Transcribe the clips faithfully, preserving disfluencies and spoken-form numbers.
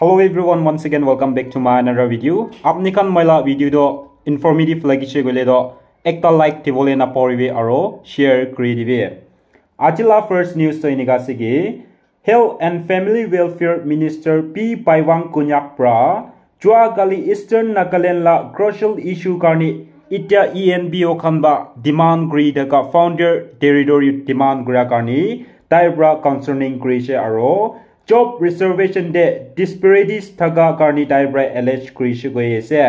Hello everyone, once again welcome back to my another video. Apni khan moi la video to informative lagise koile to ekta like dibole na poribi aro share kuri dibi. Aji la first news to enika ase ki Health and Family Welfare Minister P Paiwang Konyak pra jua kali Eastern Nagaland la crucial issue karni itia E N P O khan ba demand kuri thaka founder territory demand kura karni tai pra concerning kurise aro job reservation de disparities thaka karni tai pra allege kurise koi ase.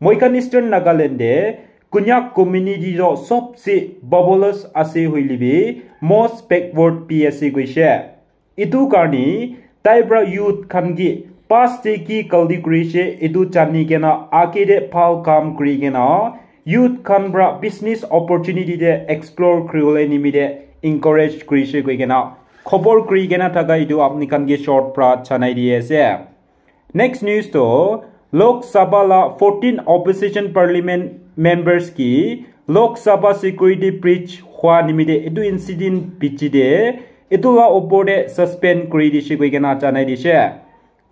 Moi khan Eastern Nagaland de Konyak community to sobse babulous ase hoile bi most backward bi ase koise. Etu karni tai pra youth khan ki past de ki galti kurise etu jani kena age de bhal kam kuri kena youth khan pra business opportunity de explore kuri bole nimite encourage kurise koi kena khobor kuri kena thaka etu apni khan ki short pra janai di ase. Next news to Lok Sabha la fourteen opposition parliament members ki Lok Sabha security breach hua nimite etu incident bichi de etu la opor de suspend kuri dise koi kena janai dise.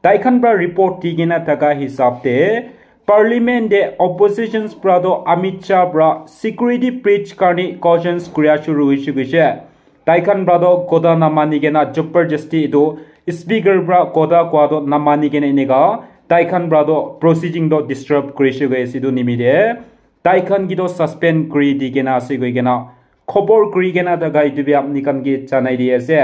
Tai khan pra report di kena thaka hisab de parliament de oppositions pra to Amit Shah pra security breach karni cautions kuria shuru hoise koise. Tai khan pra to kotha na mani kena jabardasti etu speaker pra kotha koa to na mani kena enika tai khan pra to proceeding to disturb kurise koi ase etu nimite tai khan ki to suspend kuri di kena ase koi kena khobor kuri kena thaka etu bi apni khan ki janai di ase.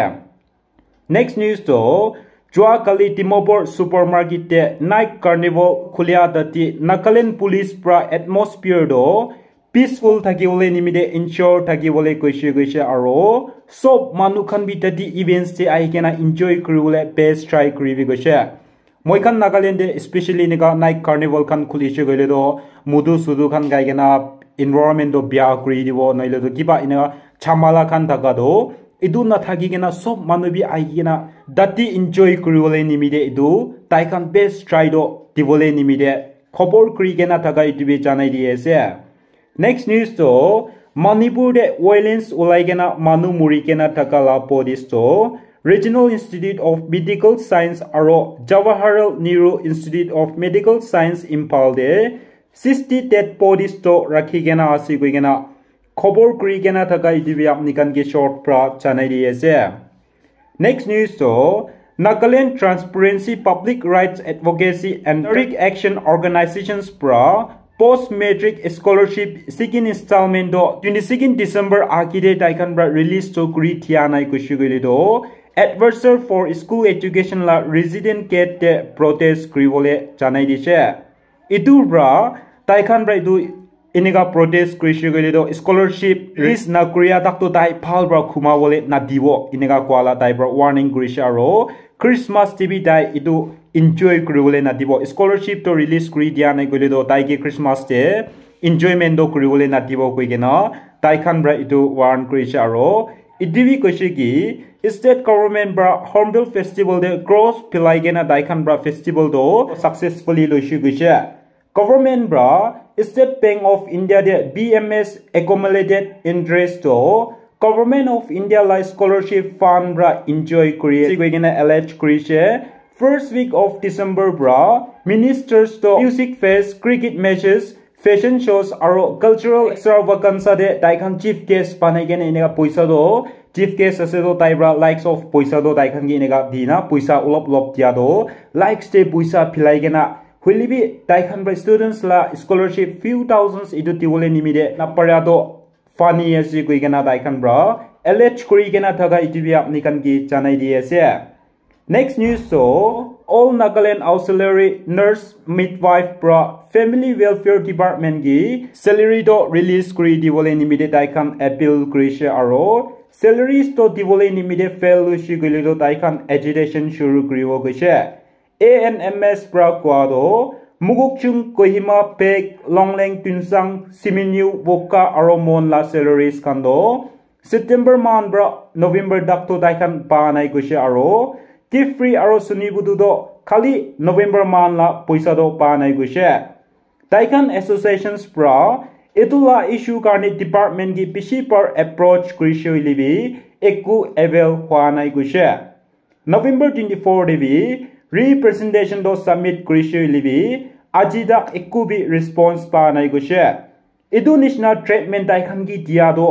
Next news to jua kali Dimapur supermarket te night carnival khulia dati Nagaland police pra atmosphere to peaceful thaki bole nimite ensure thaki bole koise koise aro sob manu khan bi tati events te ahi kena enjoy kuri bole best try kuri bi koise. Moi khan Nagaland de especially enika night carnival khan khulise koile to mudu sudu khan gai kena environment to bia kuri dibo noile to kiba enika chamala khan thaka to etu na thaki kena sob manu bi ahi kena tati enjoy kuri bole nimite etu tai khan best try to dibole nimite khobor kuri kena thaka etu bi janai di ase. Next news to Manipur de violence ulai kena manu muri kena thaka la police to Regional Institute of Medical Science aro Jawaharlal Nehru Institute of Medical Science Imphal de sixty dead bodies to rakhi kena ase koi kena khobor kuri kena thaka etu bi apni khan ki short pra janai di ase. Next news to Nagaland Transparency Public Rights Advocacy and Direct Action Organizations pra post matric scholarship second installment to twenty second December aki de tai khan pra release to kuri thia nai kushi koile to advisor for school education la resident gate de protest kuri bole janai dise. Etu pra tai khan pra etu enika protest kurise koile to scholarship release na kuria tak to tai bhal pra khuma bole na dibo enika koa la tai pra warning kurise aro Christmas te bi tai etu enjoy kuri bole na dibo scholarship to release kuri dia nai koile to tai ke Christmas te enjoyment to kuri bole na dibo koi kena tai khan pra etu warn kurise aro etu bi koise ki state government pra Hornbill Festival de cross philai kena tai khan pra festival to successfully loise koise. Government pra State Bank of India de B M S accumulated interest to Government of India la scholarship fund pra enjoy kuri ase koi kena allege kurise. First week of December pra ministers to music fest, cricket matches, fashion shows aro cultural extravaganza de tai khan chief guest banai kena enika poisa to chief guest ase to tai pra likes of poisa to tai khan ke enika di na poisa olop olop dia to likes de poisa philai kena Hoile bi tai khan pra students la scholarship few thousands etu dibole nimite na para to funny ase koi kena tai khan pra allege kuri kena thaka etu bi apni khan ke janai di ase. Next news to All Nagaland Auxiliary Nurse Midwife pra Family Welfare Department ke salary to release kuri dibole nimite tai khan appeal kurise aro salaries to dibole nimite fail hoise koile to tai khan agitation shuru kuribo koise. A N M S pra koa to Mokokchung, Kohima, Phek, Longleng, Tuensang, Seminyu, Wokha aro Mon la salaries khan to September month pra November tak to tai khan pa nai koise aro Kiphire aro Sonibhu tu to khali November month la poisa to pa nai koise. Tai khan associations pra etu la issue karne department ke bishi bar approach kurise hoile bi eku avail hua nai koise. November twenty four de bi Representation to submit kurishe hoile bi aji tak eku bi response pa nai koishe. Etu nishina treatment tai khan ki dia to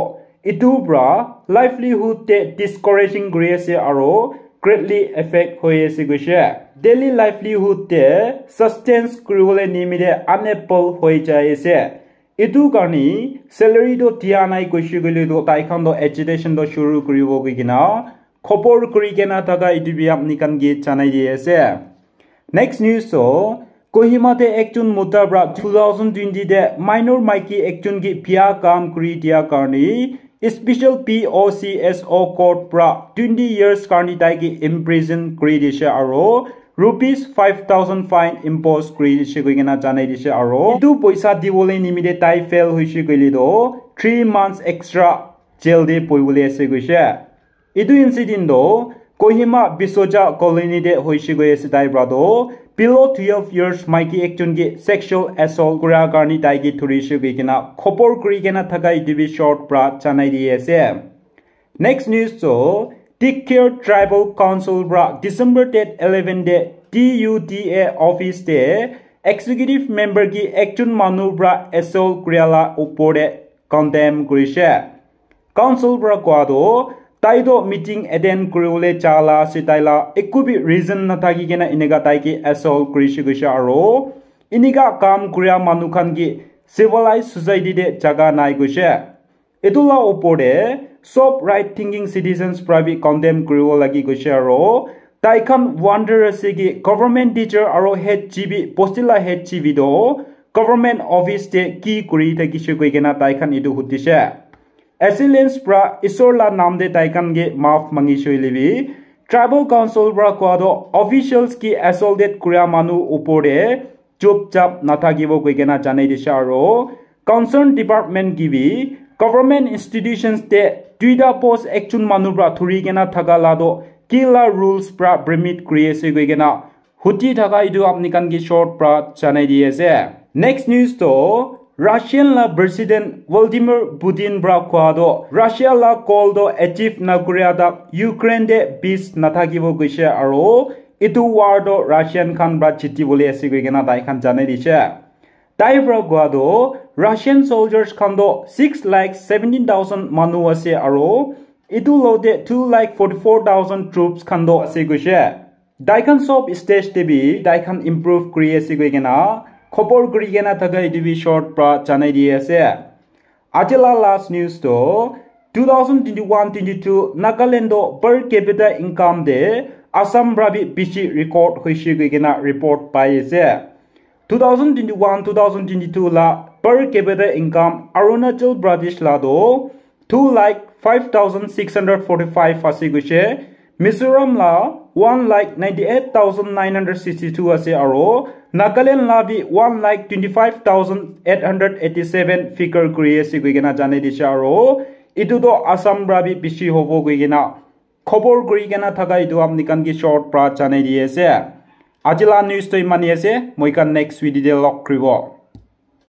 etu pra livelihood te discouraging kuri ase aro greatly affect hoi ase koishe. Daily livelihood te sustenance kuribole nimite unable hoi jai ase. Etu karni salary to dia nai koishe koile to tai khan to agitation to shuru kuribo koi kena khobor kuri kena thaka etu bi apni khan ke janai di ase. Next news to Kohima te ekjon mota pra two thousand twenty te minor maiki ekjon ke bia kam kuri dia karni special P O C S O court pra twenty years karni tai ke imprison kuri dishe aro rupees five thousand fine impose kuri dishe koi kena janai dishe aro etu poisa dibole nimite tai fail hoishe koile to three months extra jail te bohibole ase koishe. Etu incident to Kohima Bisoja Colony te hoishe koi ase tai pra to below twelve years maiki ekjon ke sexual assault kura karni tai ke dhurishe koi kena khobor kuri kena thaka etu bi short pra janai di ase. Next news to Tikir Tribal Council pra December date eleven te T U D A office te executive member ki ekjon manu pra assault kuria la upor te condemn kurishe. Council pra koa to tai to meeting attend kuribole ja la ase tai la eku bi reason nathaki kena eneka tai ke assault kurishe koishe aro eneka kam kuria manu khan ke civilized society te jaga nai koishe. Etu la upor te sob right thinking citizens pra bi condemn kuribo lagi koishe aro tai khan wonder ase ki government teacher aro head G B bosti la head G B to government office te ki kuri thakishe koi kena tai khan etu hudishe. Assailants pra Isor la nam te tai khan ke maaf mangishe hoile bi, Tribal Council pra koa to officials ki assaulted kuria manu upor te chupchap nathakibo koi kena janai dishe aro concerned department ki bi government institutions te duita post ekjon manu pra dhuri kena thaka la to ki la rules pra permit kuri ase koi kena huti thaka etu apni khan ke short pra janai di ase. Next news to Russian la President Vladimir Putin pra koa to Russia la goal to achieve nakuria tak Ukraine te peace nathakibo koishe aro etu war to Russian khan pra jiti bole ase koi kena tai khan janai dishe. Tai pra koa to Russian soldiers khan to six lakh seventeen thousand manu ase aro etu lote two lakh forty four thousand troops khan to ase koishe. Tai khan sob stage te bi tai khan improve kuri ase koi kena khobor kuri kena thaka etu bi short pra janai di ase. Aji la last news to two thousand twenty-one twenty-two Nagaland to per capita income te Assam pra bi bishi record hoishe koi kena report pai ase. Two thousand twenty-one two thousand twenty-two la per capita income Arunachal Pradesh la to two lakh five thousand six hundred forty-five ase koishe. Mizoram la one lakh ninety-eight thousand nine hundred sixty-two ase aro Nagaland la bi one lakh twenty-five thousand eight hundred eighty-seven figure kuri ase koi kena janai dishe aro etu to Assam pra bi bishi hobo koi kena khobor kuri kena thaka etu apni khan ke short pra janai di ase. Aji la news to imani ase, moi khan next video te log kuribo.